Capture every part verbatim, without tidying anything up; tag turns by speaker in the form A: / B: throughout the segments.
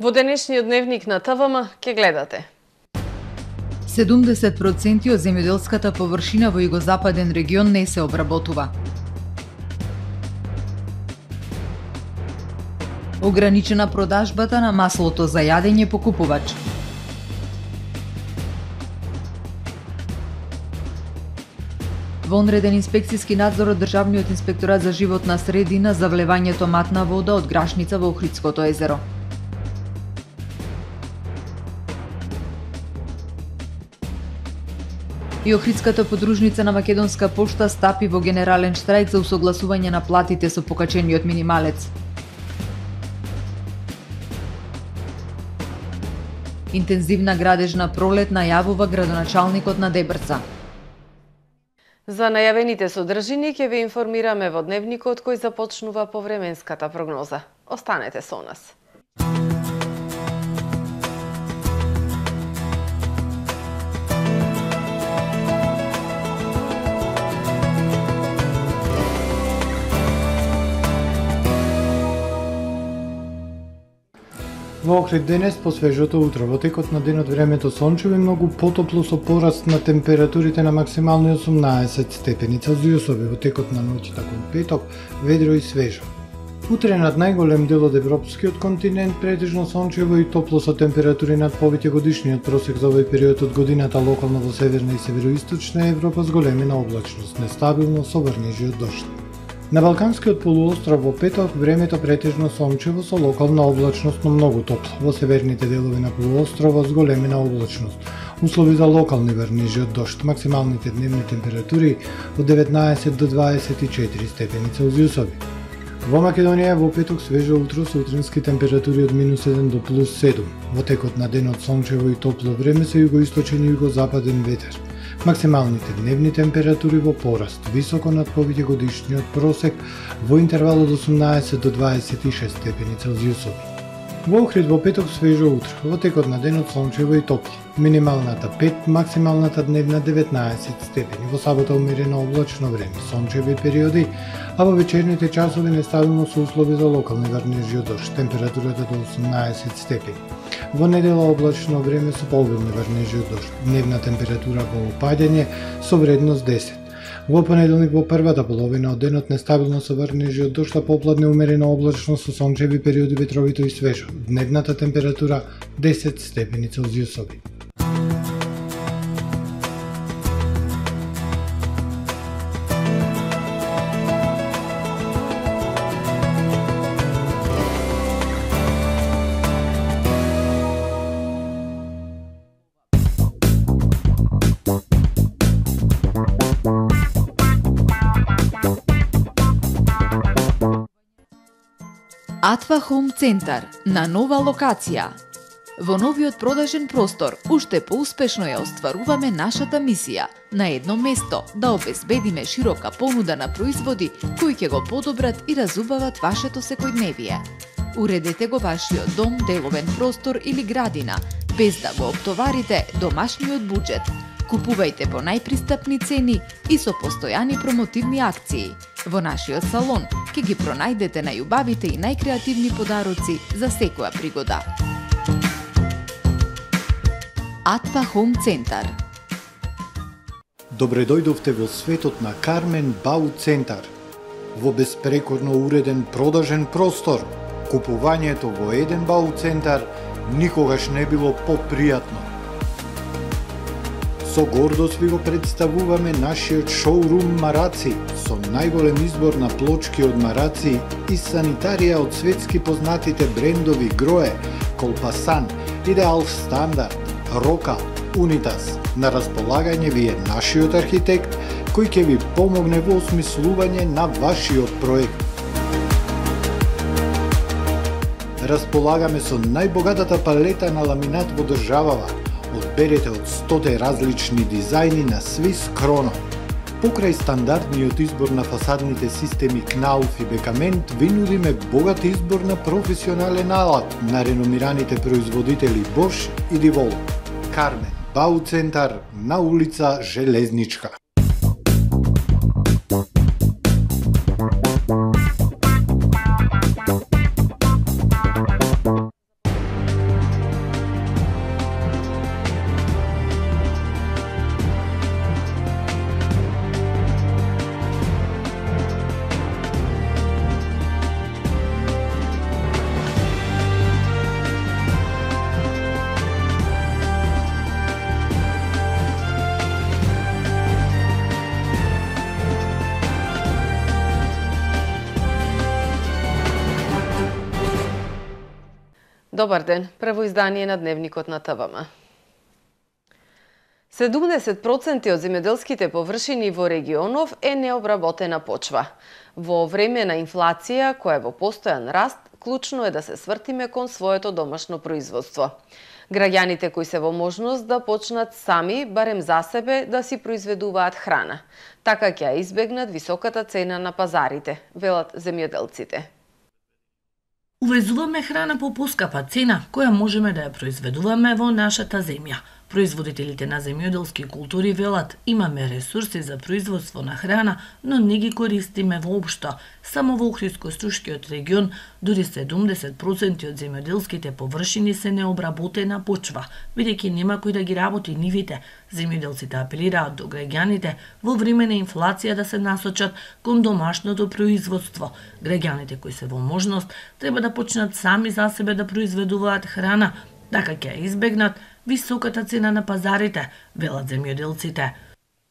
A: Во денешниот дневник на Т В М ќе гледате.
B: седумдесет проценти од земјоделската површина во југозападен регион не се обработува. Ограничена продажбата на маслото за јадење по купувач. Вонреден инспекцијски надзор од Државниот инспекторат за животна средина за влевањето матна вода од Грашница во Охридското езеро. И Охридската подружница на Македонска пошта стапи во генерален штрајк за усогласување на платите со покачениот минималец. Интензивна градежна пролет најавува градоначалникот на Дебрца.
A: За најавените содржини ќе ве информираме во дневникот кој започнува по временската прогноза. Останете со нас.
C: Во Охрид денес по свежото утро, во текот на денот времето сончево и многу потопло со пораст на температурите на максимални осумнаесет степени Целзиусови, во текот на ноќта кон петок ведро и свежо. Утре над најголем дел од европскиот континент претежно сончево и топло со температури над повеќегодишниот просек за овој период од годината, локално во северна и североисточна Европа с големина облачност, нестабилно со врнежи од дожд. На Балканскиот полуостров во петок времето претежно сончево со локална облачност, но многу топло. Во северните делови на полуостровот с големина облачност. Услови за локални врнежи од дожд. Максималните дневни температури од деветнаесет до дваесет и четири степени Целзиусови. Во Македонија во петок свежо утро со утрински температури од минус еден до плюс седум. Во текот на денот сончево и топло време со југоисточен и југозападен ветер. Максималните дневни температури во пораст, високо над повеќегодишниот просек, во интервал од осумнаесет до дваесет и шест степени Целзиусови. Во Охрид во петок свежо утро, во текот на денот сончево и топло. Минималната пет, максималната дневна деветнаесет степени. Во сабота умерено облачно време, сончеви периоди, а во вечерните часови нестабилно со услови за локални врнежи од дожд, температурата до осумнаесет степени. Во недела облачно време со пообилни врнежи од дожд, дневна температура во опаѓање со вредност десет. Во понеделник во првата половина од денот нестабилно со врнежи од дожд, а попладне умерено облачно со сончеви периоди, ветровито и свежо. Дневната температура десет степени Целзиусови.
B: Атва Хоум Центар на нова локација. Во новиот продажен простор уште поуспешно ја остваруваме нашата мисија на едно место да обезбедиме широка понуда на производи кои ќе го подобрат и разубават вашето секојдневие. Уредете го вашиот дом, деловен простор или градина без да го оптоварите домашниот буџет. Купувајте по најпристапни цени и со постојани промотивни акции. Во нашиот салон ќе ги пронајдете најубавите и најкреативни подароци за секоја пригода. Атва Хоум Центар.
C: Добре дојдовте во светот на Кармен Бау Центар. Во беспрекорно уреден продажен простор, купувањето во еден Бау Центар никогаш не било попријатно. Со гордост ви го представуваме нашиот шоурум Мараци, со најголем избор на плочки од мараци и санитарија од светски познатите брендови Грое, Колпасан, Идеал Стандард, Рока, Унитас. На располагање ви е нашиот архитект, кој ќе ви помогне во осмислување на вашиот проект. Располагаме со најбогатата палета на ламинат во државава. Одберете од стоте различни дизајни на Swiss Chrono. Покрај стандардниот избор на фасадните системи Knauf и Бекамент, ви нудиме богат избор на професионален алат на реномираните производители Bosch и Divol. Кармен Бау Центар на улица Железничка.
A: Добар ден, прво издание на Дневникот на ТВМ. седумдесет проценти од земјоделските површини во регионов е необработена почва. Во време на инфлација, која е во постојан раст, клучно е да се свртиме кон своето домашно производство. Граѓаните кои се во можност да почнат сами, барем за себе, да си произведуваат храна. Така ќе избегнат високата цена на пазарите, велат земјоделците.
D: Увезуваме храна по поскапа цена, која можеме да ја произведуваме во нашата земја. Производителите на земјоделски култури велат, имаме ресурси за производство на храна, но не ги користиме воопшто. Само во Охридско-Струшкиот регион, дури седумдесет проценти од земјоделските површини се необработена почва, бидејќи нема кој да ги работи нивите. Земјоделците апелираат до граѓаните во време на инфлација да се насочат кон домашното производство. Граѓаните кои се во можност треба да почнат сами за себе да произведуваат храна, така ќе избегнат високата цена на пазарите, велат земјоделците.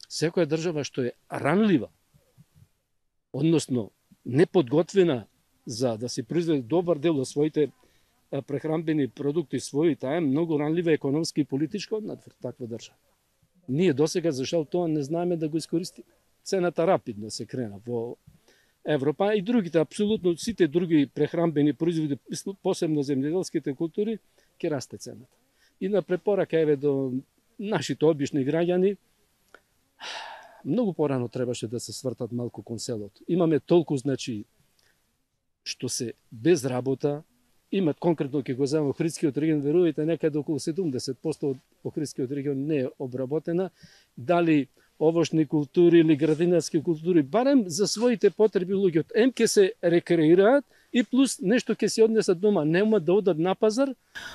E: Секоја држава што е ранлива, односно неподготвена за да се произведе добар дел од своите прехранбени продукти своји, таа е многу ранлива економски и политичко од таква држава. Ние досега зашто тоа не знаеме да го искористиме. Цената рапидно се крена во Европа и другите, апсолутно сите други прехранбени производи, посебно земјоделските култури, ќе расте цената. И на препорака еве до нашите обични граѓани, многу порано требаше да се свртат малку кон селото. Имаме толку, значи, што се без работа, имат конкретно ќе го земам Охридскиот регион, верувајте, некаде околу седумдесет проценти од Охридскиот регион не е обработена, дали овошни култури или градинарски култури, барем за своите потреби луѓето. Ем ќе се рекреираат и плюс нешто ќе се однесат дома, нема да одат на пазар.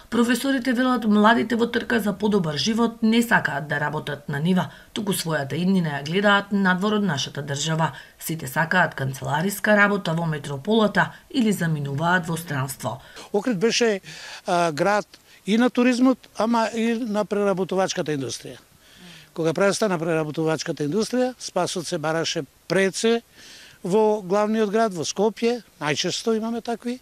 D: Професорите велат младите во трка за подобар живот не сакаат да работат на нива, туку својата иднина ја гледаат надвор од нашата држава. Сите сакаат канцелариска работа во метрополата или заминуваат во странство.
F: Охрид беше а, град и на туризмот, ама и на преработувачката индустрија. Кога престана преработувачката индустрија, спасот се бараше пред се во главниот град, во Скопје, најчесто имаме такви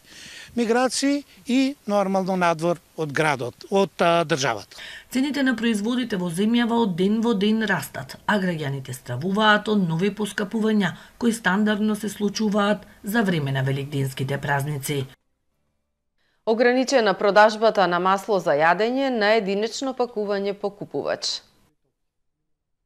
F: миграции и нормално надвор од градот, од а, државата.
D: Цените на производите во земјава од ден во ден растат, а граѓаните стравуваат од нови поскапувања, кои стандардно се случуваат за време на великденските празници.
A: Ограничена продажбата на масло за јадење на единечно пакување по купувач.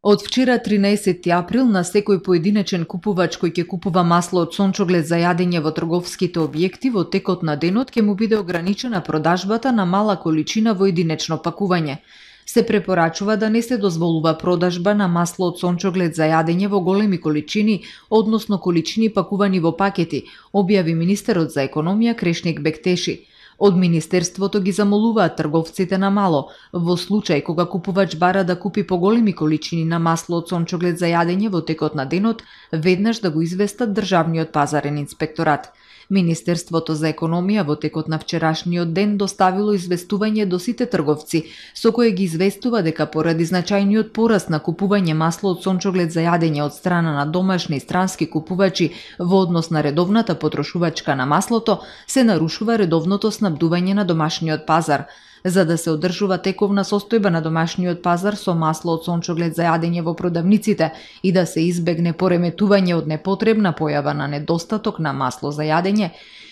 B: Од вчера тринаесети април на секој поединечен купувач кој ќе купува масло од сончоглед за јадење во трговските објекти во текот на денот ќе му биде ограничена продажбата на мала количина во единечно пакување. Се препорачува да не се дозволува продажба на масло од сончоглед за јадење во големи количини, односно количини пакувани во пакети, објави министерот за економија Крешник Бектеши. Од Министерството ги замолуваат трговците на мало, во случај кога купувач бара да купи поголеми количини на масло од сончоглед за јадење во текот на денот, веднаш да го известат Државниот пазарен инспекторат. Министерството за економија во текот на вчерашниот ден доставило известување до сите трговци, со кое ги известува дека поради значајниот пораст на купување масло од сончоглед за јадење од страна на домашни и странски купувачи во однос на редовната потрошувачка на маслото, се нарушува редовното снабдување на домашниот пазар. За да се одржува тековна состојба на домашниот пазар со масло од сончоглед за јадење во продавниците и да се избегне пореметување од непотребна појава на недостаток на масло за јадење,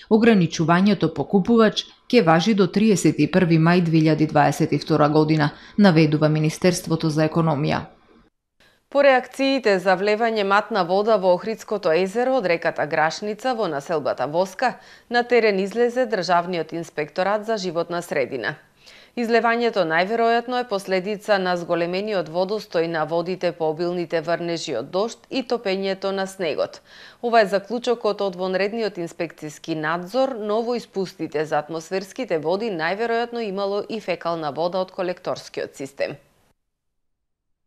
B: ограничувањето по купувач ќе важи до триесет и први мај две илјади дваесет и втора година, наведува Министерството за економија.
A: По реакциите за влевање матна вода во Охридското езеро од реката Грашница во населбата Воска, на терен излезе Државниот инспекторат за животна средина. Излевањето најверојатно е последица на зголемениот водостој на водите по обилните врнежи од дожд и топењето на снегот. Ова е заклучокот од вонредниот инспекциски надзор, но во испустите за атмосферските води најверојатно имало и фекална вода од колекторскиот систем.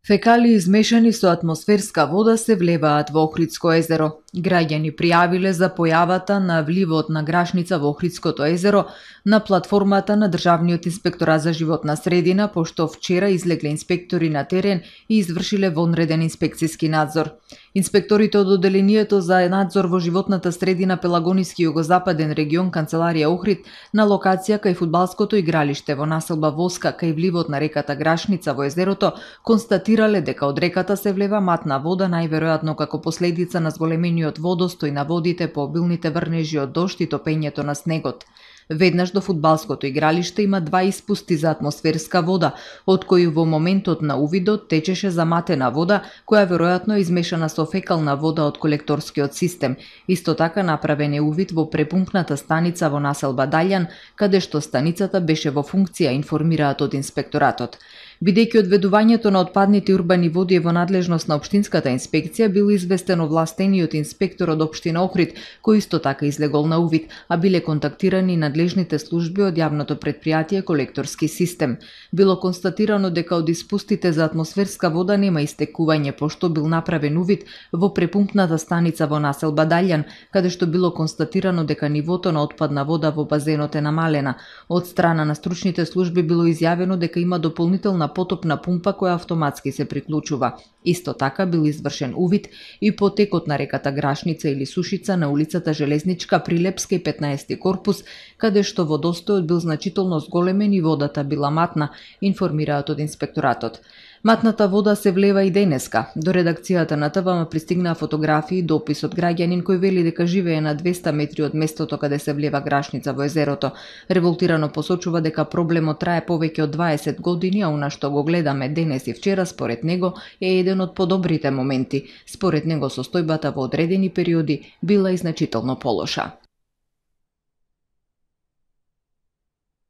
B: Фекалии измешани со атмосферска вода се влеваат во Охридско езеро.
G: Граѓани пријавиле за појавата на вливот на грашница во Охридското езеро на платформата на Државниот инспекторат за животна средина, пошто вчера излегле инспектори на терен и извршиле вонреден инспекцијски надзор. Инспекторите од Оделението за надзор во животната средина Пелагониски југозападен регион канцеларија Охрид на локација кај фудбалското игралиште во населба Воска кај вливот на реката Грашница во езерото констатирале дека од реката се влева матна вода, најверојатно како последица на зголемениот водостој на водите по обилните врнежи од дожд и топењето на снегот. Веднаш до фудбалското игралиште има два испусти за атмосферска вода, од кои во моментот на увидот течеше заматена вода, која веројатно е измешана со фекална вода од колекторскиот систем. Исто така направен е увид во препумпната станица во населба Далјан, каде што станицата беше во функција, информираат од инспекторатот. Бидејќи одведувањето на отпадните урбани води е во надлежност на општинската инспекција, бил известен овластениот инспектор од општина Охрид, кој исто така излегол на увид, а биле контактирани надлежните служби од јавното претпријатие Колекторски систем. Било констатирано дека од испустите за атмосферска вода нема истекување, пошто бил направен увид во препумпната станица во населба Далјан, каде што било констатирано дека нивото на отпадна вода во базенот е намалена. Од страна на стручните служби било изјавено дека има дополнителна потопна пумпа која автоматски се приклучува. Исто така бил извршен увид и по текот на реката Грашница или Сушица на улицата Железничка при Лепска и петнаесети корпус, каде што водостојот бил значително зголемен и водата била матна, информираат од инспекторатот. Матната вода се влева и денеска. До редакцијата на ТВМ пристигнаа фотографии и допис од граѓанин кој вели дека живее на двесте метри од местото каде се влева Грашница во езерото. Револтирано посочува дека проблемот трае повеќе од дваесет години, а она што го гледаме денес и вчера според него е еден од подобрите моменти. Според него состојбата во одредени периоди била и значително полоша.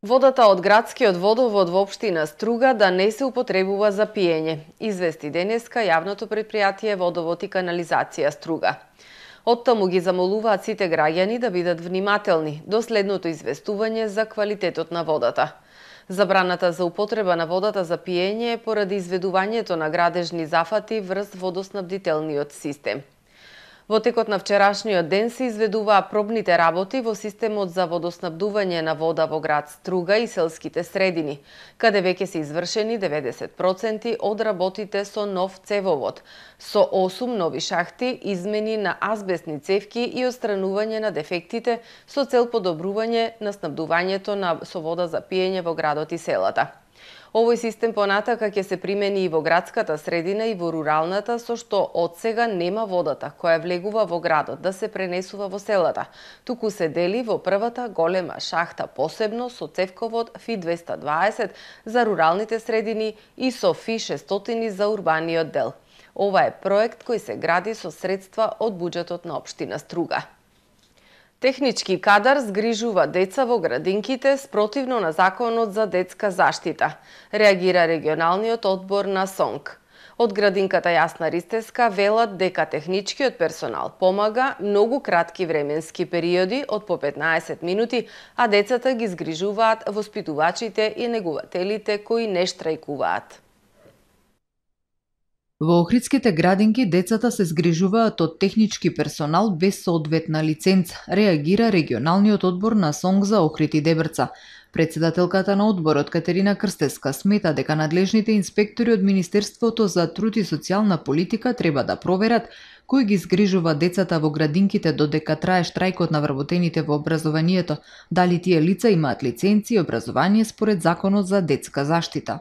A: Водата од градскиот водовод во општина Струга да не се употребува за пиење, извести денеска јавното претпријатие Водовод и канализација Струга. Оттаму ги замолуваат сите граѓани да бидат внимателни до следното известување за квалитетот на водата. Забраната за употреба на водата за пиење е поради изведувањето на градежни зафати врз водоснабдителниот систем. Во текот на вчерашниот ден се изведуваа пробните работи во системот за водоснабдување на вода во град Струга и селските средини, каде веќе се извршени деветдесет проценти од работите со нов цевовод, со осум нови шахти, измени на азбестни цевки и отстранување на дефектите со цел подобрување на снабдувањето на со вода за пиење во градот и селата. Овој систем понатака ќе се примени и во градската средина и во руралната, со што од сега нема водата која влегува во градот да се пренесува во селата, туку се дели во првата голема шахта посебно со цевковод Ф двесте дваесет за руралните средини и со Ф шестстотини за урбаниот дел. Ова е проект кој се гради со средства од буџетот на општина Струга. Технички кадар згрижува деца во градинките спротивно на Законот за детска заштита, реагира регионалниот одбор на СОНК. Од градинката Јасна Ристеска велат дека техничкиот персонал помага многу кратки временски периоди од по петнаесет минути, а децата ги згрижуваат воспитувачите и негувателите кои не штрајкуваат.
G: Во охридските градинки децата се згрижуваат од технички персонал без соодветна лиценца, реагира регионалниот одбор на СОНК за Охрид и Дебрца. Председателката на одборот Катерина Крстеска смета дека надлежните инспектори од Министерството за труд и социјална политика треба да проверат кој ги згрижува децата во градинките додека трае штрајкот на вработените во образованието, дали тие лица имаат лиценци и образование според Законот за детска заштита.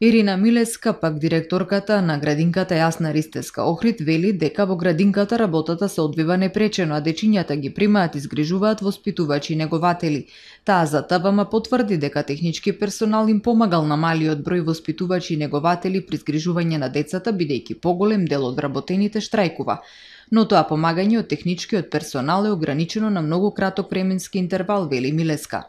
G: Ирина Милеска, пак директорката на градинката Јасна Ристеска Охрид, вели дека во градинката работата се одвива непречено, а дечињата ги примаат и згрижуваат воспитувачи и негователи. Таа за ТВМ потврди дека технички персонал им помагал на малиот број воспитувачи и негователи при згрижување на децата, бидејќи поголем дел од вработените штрајкува. Но тоа помагање од техничкиот персонал е ограничено на многу краток временски интервал, вели Милеска.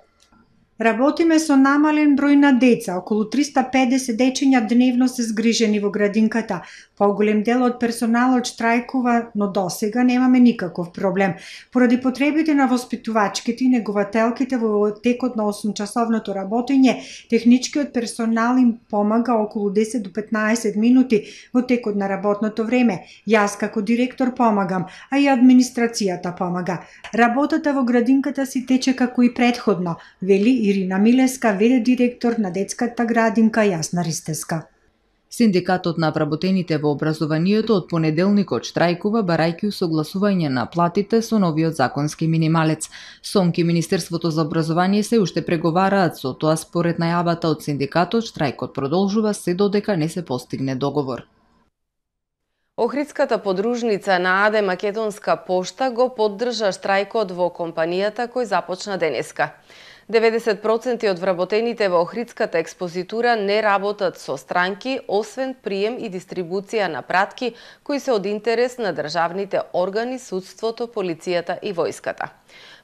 H: Работиме со намален број на деца, околу триста и педесет дечиња дневно се згрижени во градинката. Поголем дел од персоналот штрајкува, но досега немаме никаков проблем. Поради потребите на воспитувачките и негователките во текот на осумчасовното работење, техничкиот персонал им помага околу десет до петнаесет минути во текот на работното време. Јас како директор помагам, а и администрацијата помага. Работата во градинката си тече како и претходно, вели Ирина Милеска, ве.д. директор на детската градинка Јасна Ристеска.
G: Синдикатот на вработените во образованието од понеделникот штрајкува барајќи усогласување на платите со новиот законски минималец. СОНК и Министерството за образование се уште преговараат, со тоа според најавата од синдикатот штрајкот продолжува се додека не се постигне договор.
A: Охридската подружница на АД Македонска пошта го поддржа штрајкот во компанијата кој започна денеска. деветдесет проценти од вработените во Охридската експозитура не работат со странки, освен прием и дистрибуција на пратки кои се од интерес на државните органи, судството, полицијата и војската.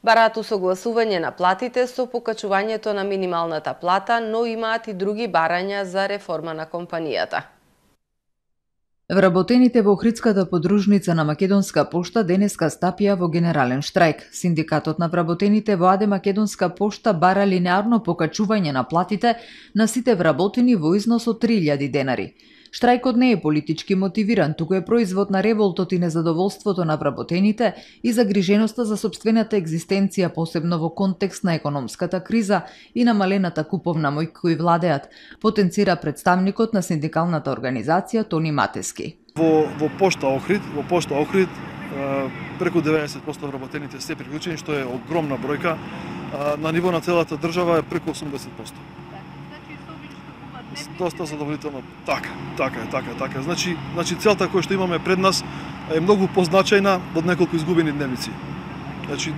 A: Бараат усогласување на платите со покачувањето на минималната плата, но имаат и други барања за реформа на компанијата.
G: Вработените во Охридската подружница на Македонска пошта денеска стапија во генерален штрајк. Синдикатот на вработените во АД Македонска пошта бара линеарно покачување на платите на сите вработени во износ од три илјади денари. Штрајкот не е политички мотивиран, туку е производ на револтот и незадоволството на вработените и загриженоста за сопствената екзистенција, посебно во контекст на економската криза и намалената куповна моќ кои владеат, потенцира представникот на синдикалната организација Тони Матески.
I: Во, во пошта Охрид, во пошта Охрид преку деветдесет проценти вработените се приклучени, што е огромна бројка. На ниво на целата држава е преку осумдесет проценти. Доста задоволително. Така, така е, така е, така е. Значи, значи целта која што имаме пред нас е многу позначајна од неколку изгубени дневници. Значи,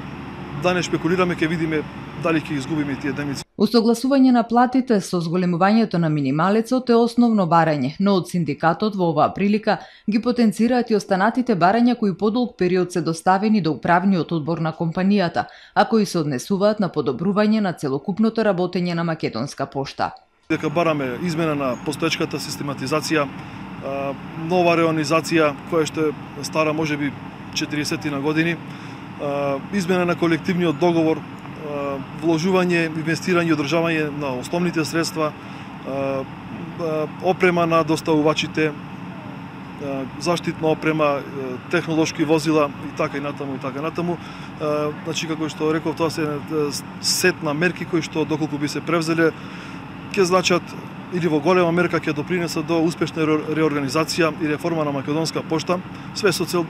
I: да не шпекулираме, ќе видиме дали ќе изгубиме тие дневници.
G: Усогласување на платите со зголемувањето на минималецот е основно барање, но од синдикатот во оваа прилика ги потенцираат и останатите барања кои подолг период се доставени до управниот одбор на компанијата, а кои се однесуваат на подобрување на целокупното работење на Македонска пошта.
I: Дека бараме измена на постоечката систематизација, нова реонизација која што е стара можеби четириесет на години, измена на колективниот договор, вложување, инвестирање и одржавање на основните средства, опрема на доставувачите, заштитна опрема, технолошки возила и така и натаму и така натаму. Значи како што реков, тоа се сет на мерки кои што доколку би се превзеле ќе значат или во голема мерка ќе допринесат до успешна реорганизација и реформа на Македонска пошта, све со цел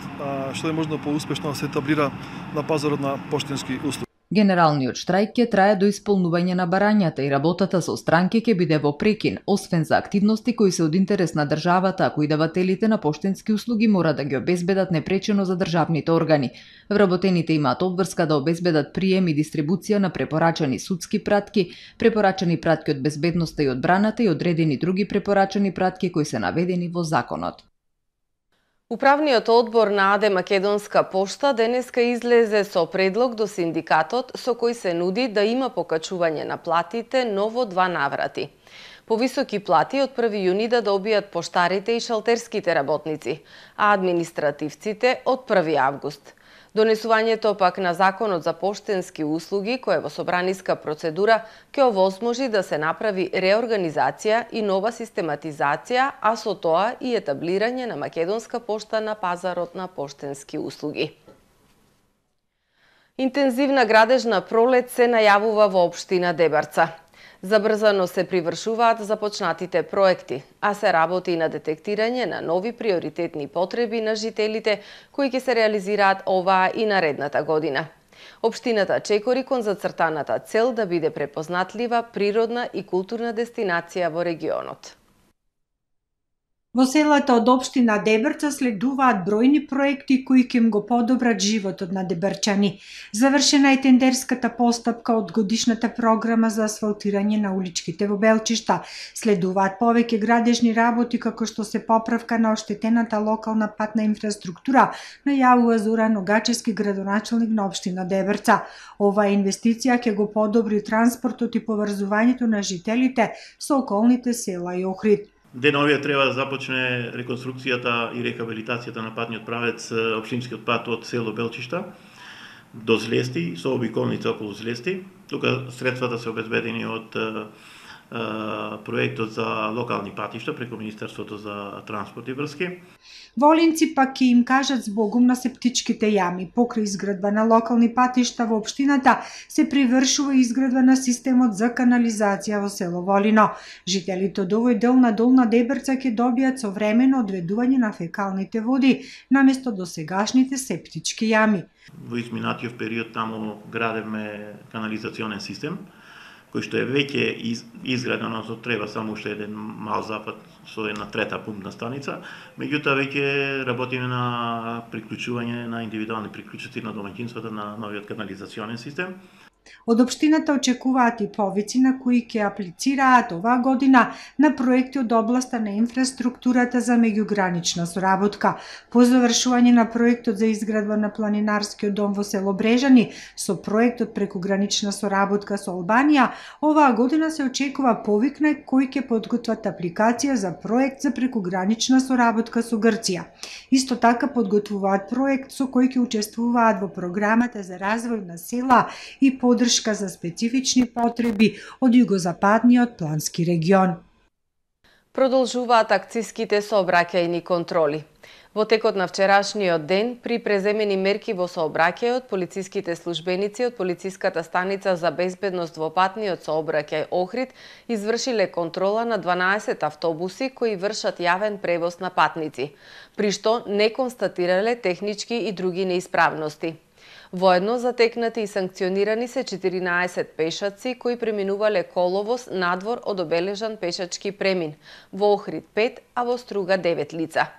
I: што е можно поуспешно да се етаблира на пазарот на поштенски услуги.
G: Генералниот штрајк ќе трае до исполнување на барањата и работата со странки ќе биде во прекин, освен за активности кои се од интерес на државата, а кои давателите на поштенски услуги мора да ги обезбедат непречено за државните органи. Вработените имаат обврска да обезбедат прием и дистрибуција на препорачани судски пратки, препорачани пратки од безбедноста и одбраната и одредени други препорачани пратки кои се наведени во законот.
A: Управниот одбор на АД Македонска пошта денеска излезе со предлог до синдикатот со кој се нуди да има покачување на платите, но во два наврати. Повисоки плати од први јуни да добијат поштарите и шалтерските работници, а административците од први август. Донесувањето пак на Законот за поштенски услуги, кој е во собраниска процедура, ќе овозможи да се направи реорганизација и нова систематизација, а со тоа и етаблирање на Македонска пошта на пазарот на поштенски услуги. Интензивна градежна пролет се најавува во општина Дебарца. Забрзано се привршуваат започнатите проекти, а се работи и на детектирање на нови приоритетни потреби на жителите кои ќе се реализираат оваа и наредната година. Општината чекори кон зацртаната цел да биде препознатлива природна и културна дестинација во регионот.
H: Во селата од општина Дебрца следуваат бројни проекти кои ќе им го подобрат животот на дебрчани. Завршена е тендерската постапка од годишната програма за асфалтирање на уличките во Белчишта. Следуваат повеќе градежни работи како што се поправка на оштетената локална патна инфраструктура, најавува Зоран Огачевски, градоначелник на општина Дебрца. Оваа инвестиција ќе го подобри транспортот и поврзувањето на жителите со околните села и Охрид.
J: Деновија треба да започне реконструкцијата и рехабилитацијата на патниот правец, општинскиот пат од село Белчишта до Злести, со обиколница околу Злести. Тука средствата се обезбедени од проектот за локални патишта преку Министерството за транспорт и врски.
H: Волинци пак ќе им кажат збогум на септичките јами. Покрај изградба на локални патишта во општината се привршува изградба на системот за канализација во село Волино. Жителите од овој дел на Долна Дебрца ќе добијат современо одведување на фекалните води наместо досегашните септички јами.
J: Во изминатиот период таму градевме канализационен систем кој што е веќе из, изграден, одnosno треба само уште еден мал запад со една трета пумпна станица, меѓутоа веќе работиме на приклучување на индивидуални приклучоци на домаќинствата на новиот канализационен систем.
H: Од општината очекуваат и повици на кои ќе аплицираат оваа година на проекти од областа на инфраструктурата за меѓугранична соработка. По завршување на проектот за изградба на планинарскиот дом во село Брежани со проектот прекугранична соработка со Албанија, оваа година се очекува повик на кои ќе подготват апликација за проект за прекугранична соработка со Грција. Исто така подготвуваат проект со кој ќе учествуваат во програмата за развој на села и поддршка за специфични потреби од југозападниот плански регион.
A: Продолжуваат акциските сообраќајни контроли. Во текот на вчерашниот ден, при преземени мерки во сообраќајот, полициските службеници од полициската станица за безбедност во патниот сообраќај Охрид извршиле контрола на дванаесет автобуси кои вршат јавен превоз на патници, при што не констатирале технички и други неисправности. Воедно затекнати и санкционирани се четиринаесет пешаци кои преминувале коловоз надвор од обележан пешачки премин, во Охрид пет, а во Струга девет лица.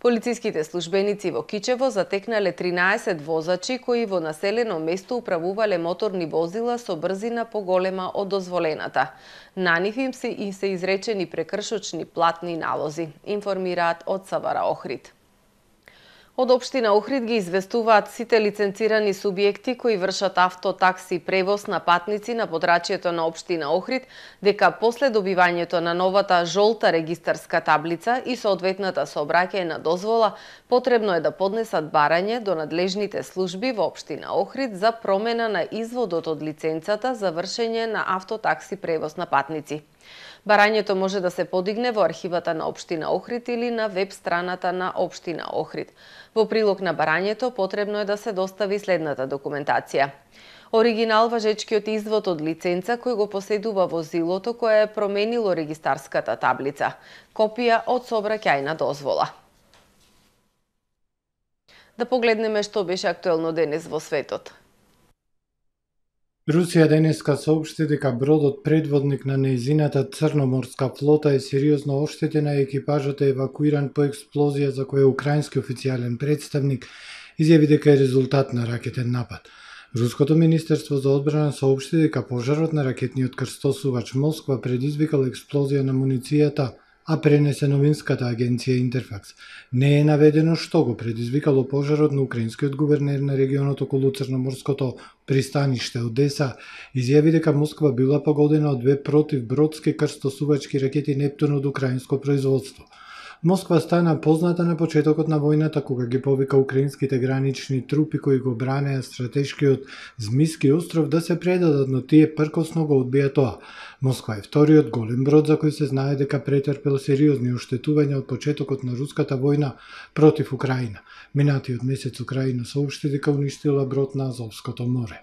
A: Полициските службеници во Кичево затекнале тринаесет возачи кои во населено место управувале моторни возила со брзина поголема од дозволената. На нив им се, им се изречени прекршочни платни налози, информираат од СВР Охрид. Од општина Охрид ги известуваат сите лиценцирани субјекти кои вршат автотакси превоз на патници на подрачјето на општина Охрид дека после добивањето на новата жолта регистарска таблица и соодветната сообраќајна дозвола потребно е да поднесат барање до надлежните служби во општина Охрид за промена на изводот од лиценцата за вршење на автотакси превоз на патници. Барањето може да се подигне во архивата на општина Охрид или на веб страната на општина Охрид. Во прилог на барањето потребно е да се достави следната документација: оригинал важечкиот извод од лиценца кој го поседува возилото кое е променило регистарската таблица, копија од сообраќајна дозвола. Да погледнеме што беше актуелно денес во светот.
C: Русија денеска соопшти дека бродот предводник на нејзината црноморска флота е сериозно оштетена и екипажот е евакуиран по експлозија за која украински официјален представник изјави дека е резултат на ракетен напад. Руското министерство за одбрана соопшти дека пожарот на ракетниот крстосувач Москва предизвикал експлозија на муницијата, а пренесе новинската агенција Интерфакс. Не е наведено што го предизвикало пожарот, на украинскиот гувернер на регионот околу Црноморското пристаниште Одеса изјави дека Москва била погодена од две противбродски крстосувачки ракети Нептун од украинско производство. Москва стана позната на почетокот на војната кога ги повика украинските гранични трупи кои го бранеа стратешкиот Змиски остров да се предадат, но тие пркосно го одбија тоа. Москва е вториот голем брод за кој се знае дека претрпел сериозни оштетувања од почетокот на руската војна против Украина. Минатиот месец Украина соопшти дека уништила брод на Азовското море.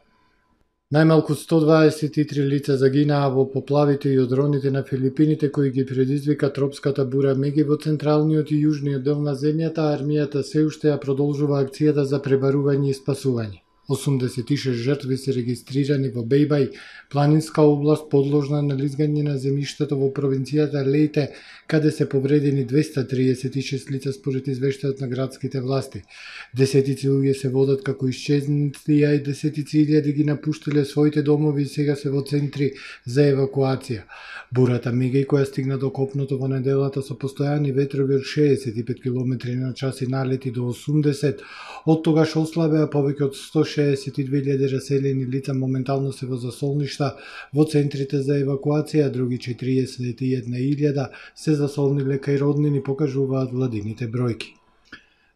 C: Најмалку сто дваесет и три лица загинаа во поплавите и одроните на Филипините кои ги предизвика тропската бура Меги во централниот и јужниот дел на земјата, а армијата се уште ја продолжува акцијата за пребарување и спасување. осумдесет и шест жртви се регистрирани во Бејбај, планинска област подложна на лизгање на земјиштето во провинцијата Лејте, каде се повредени двеста триесет и шест лица според извештајот на градските власти. Десетици луѓе се водат како исчезнати, а и десетици илјади ги напуштиле своите домови и сега се во центри за евакуација. Бурата Мегај, која стигна до копното во неделата со постојани ветрови од шеесет и пет километри на час и налети до осумдесет, од тогаш ослабеа повеќе од сто шеесет и две илјади раселени лица моментално се во засолништа во центрите за евакуација, а други четириесет и една илјада се засолниле кај роднини, покажуваат владините бројки.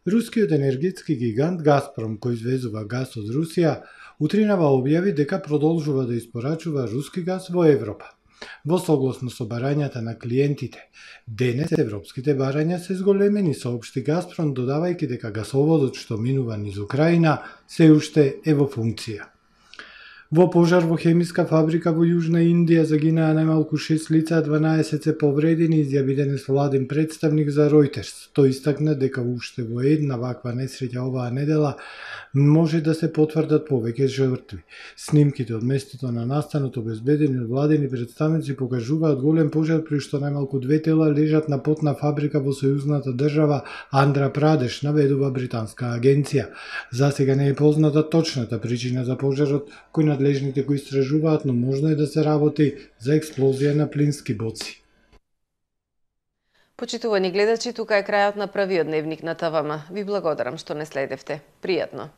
C: Рускиот енергетски гигант Газпром, кој извезува газ од Русија, утринава објави дека продолжува да испорачува руски газ во Европа. Во согласно со барањата на клиентите, денес европските барања се зголемени, соопшти Газпром, додавајќи дека гасоводот што минува низ Украина се уште е во функција. Во пожар во хемиска фабрика во Јужна Индија загинаа најмалку шест лица, а дванаесет се повредени, изјави денес владин представник за Reuters. Тој истакна дека уште во една ваква несреќа оваа недела може да се потврдат повеќе жртви. Снимките од местото на настанот, обезбедени од владини представници, покажуваат голем пожар при што најмалку две тела лежат на потна фабрика во сојузната држава Андра Прадеш, наведува британска агенција. За сега не е позната точната причина за пожарот, кој надлежните го истражуваат, но можно е да се работи за експлозија на плински боци.
A: Почитувани гледачи, тука е крајот на првиот дневник на ТВМ. Ви благодарам што не следевте. Пријатно!